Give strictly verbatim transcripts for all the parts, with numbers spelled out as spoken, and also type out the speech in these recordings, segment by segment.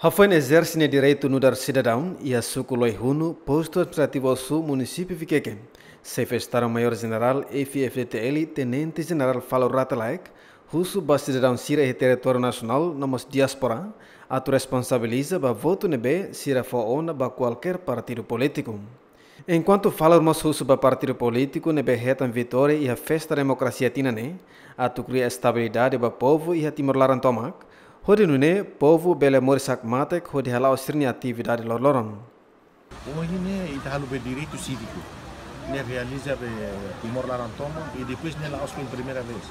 Hafoin ezerse nia direitu nu'udar sidadaun iha suku Loihunu, postu administrativu Osu, munisípiu Viqueque, Xefe Estadu-Maiór Jenerál F-FDTL, Tenente Jenerál Falur Rate Laek, husu ba sidadaun sira iha territóriu nasionál no mós diáspora atu responsabiliza ba votu ne'ebé sira fó ona ba kualkér partidu polítiku. Enkuantu Falur mós husu ba partidu polítiku ne'ebé hetan vitória iha festa demokrasia tinan ne'e atu kria estabilidade ba povu iha Timor laran tomak, hodi nune'e povu bele moris hakmatek hodi hala'o sira-nia atividade loroloron. Ohin ne'e ita halo be direitu síviku ne'e realiza be Timor laran tomak, i depois ne'e la'ós foin primeira vez.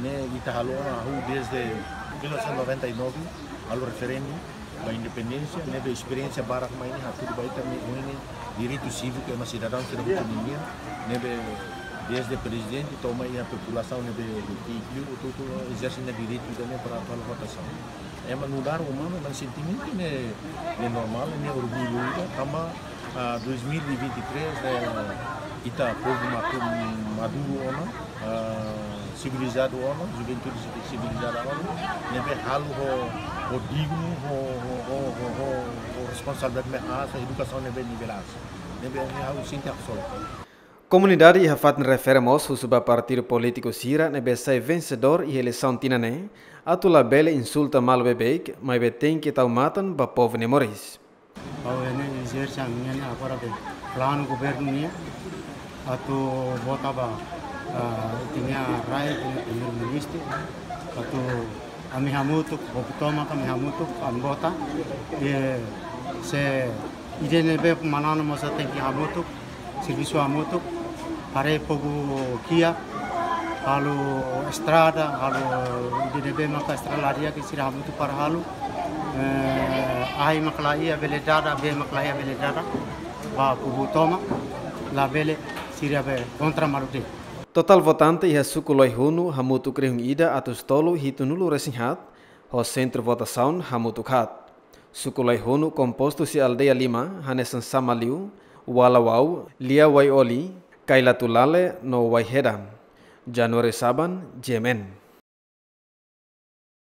Ne'e ita halo ona hahú desde mil novecentos e noventa e nove, halo referendu ba independénsia, ne'ebé esperiénsia barak mai ne'e hatudu ba ita ne'e ohin ne'e direitu síviku ema sidadaun sira hotu ninian, ne'ebé desde prezidente to'o mai iha populasaun ne'ebé hotu-hotu ezerse nia direitu ida-ne'e para atu halo votasaun. Ema nu'udar umanu, ema sentimentu ne'e, ne'e normál, ne'e orgullu ida, tanba, ah, dois mil e vinte e três, eh, ita povu matu-, maduru ona, ah, sivilizadu ona, juventude sivi-, sivilizada ona, ne'ebé halo ho, ho dignu, ho, ho responsabilidade ne'ebé aas, edukasaun ne'ebé nivel aas. Ne'ebé ne'e ha'u sente haksolok. Komunidade iha fatin refere mós husu ba partidu polítiku sira ne'ebé sai vensedór iha eleisaun tinan ne'e atu labele insulta malu beibeik, maibé tenke tau matan ba povu nia moris. Ha'u ne'e ezerse ami-nia agora be planu governu nian atu vota ba, ah, ita-nia rai, ita-nia primeiru-ministru, atu ami hamutuk, povu tomak ami hamutuk, ami vota, i se ida ne'ebé manán mós tenke hamutuk, servisu hamutuk, haree povu kiak, halo estrada, halo ida ne'ebé maka estrada ladi'ak sira hamutuk para halo, eh, ai maka laiha bele dada, bee maka laiha bele dada, ba povu tomak, labele sira be kontra malu de'it. Totál votante iha suku Loihunu hamutuk rihun ida atus tolu hitunulu resin haat, ho sentru votasaun hamutuk haat. Suku Loihunu kompostu husi aldeia lima, hanesan Samaliu, Walawau, Liawaioli, Kailatulale no Waiheda. Januário Saban, G M N.